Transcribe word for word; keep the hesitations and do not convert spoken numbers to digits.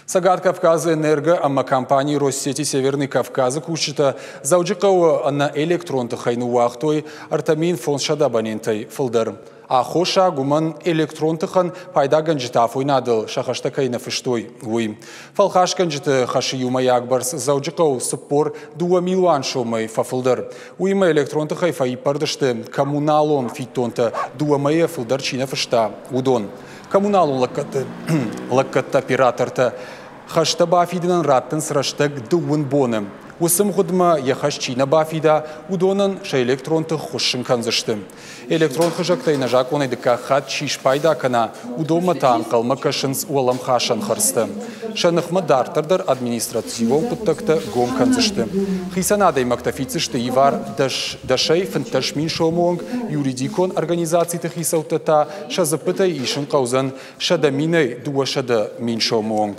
Цӕгат Кавказы энерго ӕмӕ компани Россети Северный Кавказы кусджытӕ Дзӕуджыхъӕуы ӕнӕ электрон тыхӕй ныууагътой ӕртӕ мин фондзсӕдӕ абонентӕй фылдӕр. Аххосаг уымӕн электрон тыхӕн пайдагӕнджытӕ афойнадыл сӕ хӕстӕ кӕй нӕ фыстой, уый. Фӕлхасгӕнджыты хӕсы иумӕйаг бӕрц Дзӕуджыхъӕуы цыппор дыууӕ милуан сомӕй фӕфылдӕр. Уыимӕ электрон тыхӕй фӕиппӕрд сты коммуналон фиддонтӕ дыууӕ мӕйӕ фылдӕр чи нӕ фыста, уыдон. Коммуналон лӕггӕдты, лӕггӕдты оператортӕ хӕстӕ бафидынӕн раттынц рӕстӕг дыууын боны. Уыцы мгъуыдмӕ йӕ хӕс чи нӕ бафида, уыдонӕн сӕ электрон тых хуыссын кӕндзысты. Электрон хызӕгтӕй нӕзакъонӕй дыккаг хатт чи спайда кӕна, уыдонмӕ та ӕнхъӕлмӕ кӕсынц уӕлӕмхасӕн хӕрдзтӕ. Сӕ ныхмӕ дарддӕр дӕр административон хъуыддӕгтӕ гом кӕндзысты. Хицӕн адӕймӕгтӕ фиддзысты ивар дӕсӕй фынддӕс мин сомы онг, юридикон организациты хицӕуттӕ та сӕ дзыппытӕй исын хъӕудзӕн сӕдӕ минӕй дыууӕсӕдӕ мин сомы онг.